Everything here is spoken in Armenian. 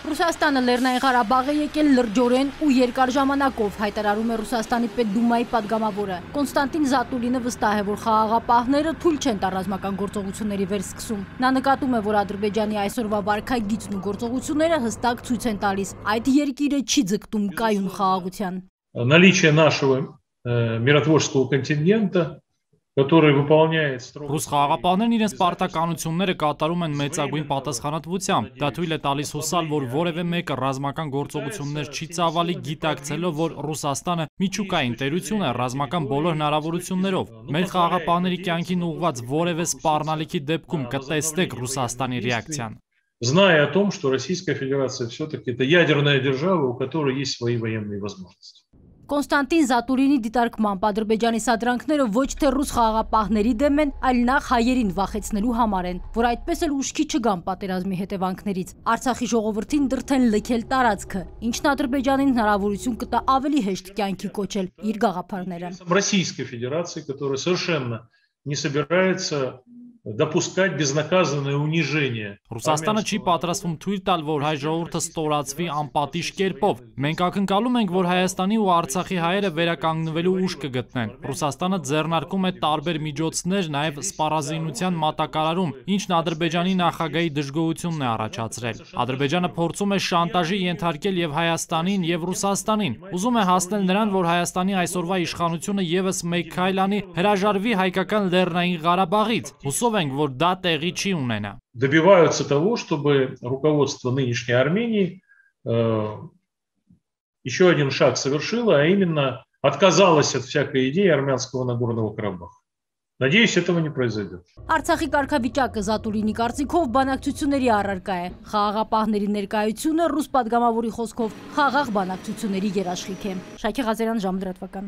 Ռուսաստանը Լեռնային Ղարաբաղ է եկել լրջորեն ու երկար ժամանակով, հայտարարում է Ռուսաստանի Պետդումայի падգամավորը։ Կոնստանտին Զատուլինը վստահ է, որ խաղաղապահները թույլ չեն տա ռազմական գործողությունների վերսկսում։ Նա նկատում է, որ Ադրբեջանի այսօրվա վարքագիծն ու գործողությունները հստակ ցույց են տալիս, այդ երկիրը չի ձգտում կայուն խաղաղության։ Наличие нашего миротворческого контингента, который выполняет строго... Ռուս խաղաղապահներն իրենց պարտականությունները կատարում են մեծագույն պատասխանատվությամբ։ Դա թույլ է տալիս հուսալ, որ որևէ մեկը ռազմական գործողություններ չի ծավալի, գիտակցելով, որ Ռուսաստանը միջուկային տերություն է ռազմական բոլոր հնարավորություններով։ Մեր խաղաղապահների կյանքին ուղղված որևէ սպառնալիքի դեպքում կտեսնեք Ռուսաստանի ռեակցիան։ Зная о том, что Российская Федерация все-таки это ядерная держава, у которой есть свои военные возможности. Կոնստանտին Զատուրինի դիտարկմամբ Ադրբեջանի սադրանքները ոչ թե ռուս խաղաղապահների դեմ են, այլ նախ հայերին վախեցնելու համար են, որ այդպես էլ ուշքի չգան պատերազմի հետևանքներից։ Արցախի ժողովրդին դրթեն լքել տարածքը, ինչն Ադրբեջանին հնարավորություն կտա ավելի հեշտ կյանքի կոչել իր գաղափարները։ Российской Федерации, которая совершенно не собирается допускать безнаказанное унижение. Ռուսաստանը չի պատրաստվում թույլ տալ, որ հայ ժողովուրդը ստորացվի անպատիժ կերպով։ Մենք ակնկալում ենք, որ Հայաստանի ու Արցախի հայերը վերականգնվելու ուժ կգտնեն։ Ռուսաստանը ձեռնարկում է տարբեր միջոցներ, նաև սպառազինության մատակարարում, ինչն Ադրբեջանի նախագահի դժգոհությունն է առաջացրել։ Ադրբեջանը փորձում է շանտաժի ենթարկել եւ Հայաստանին, եւ Ռուսաստանին։ Ուզում է հասնել նրան, որ Հայաստանի այսօրվա իշխանությունը եւս մեկ քայլ անի, հրաժարվի հայկական Լեռնային Ղարաբաղից։ Добиваются того, чтобы руководство нынешней Армении еще один шаг совершило, а именно отказалось от всякой идеи армянского Нагорного Карабаха. Надеюсь, этого не произойдет. Արցախի կարգավիճակը Զատուրինի կարծիքով բանակցությունների առարկա է։ Խաղաղապահների ներկայությունը ռուս падգամավորի խոսքով խաղաղ բանակցությունների երաշխիք է։ Շակե Ղազարյան, Ժամը լրատվական։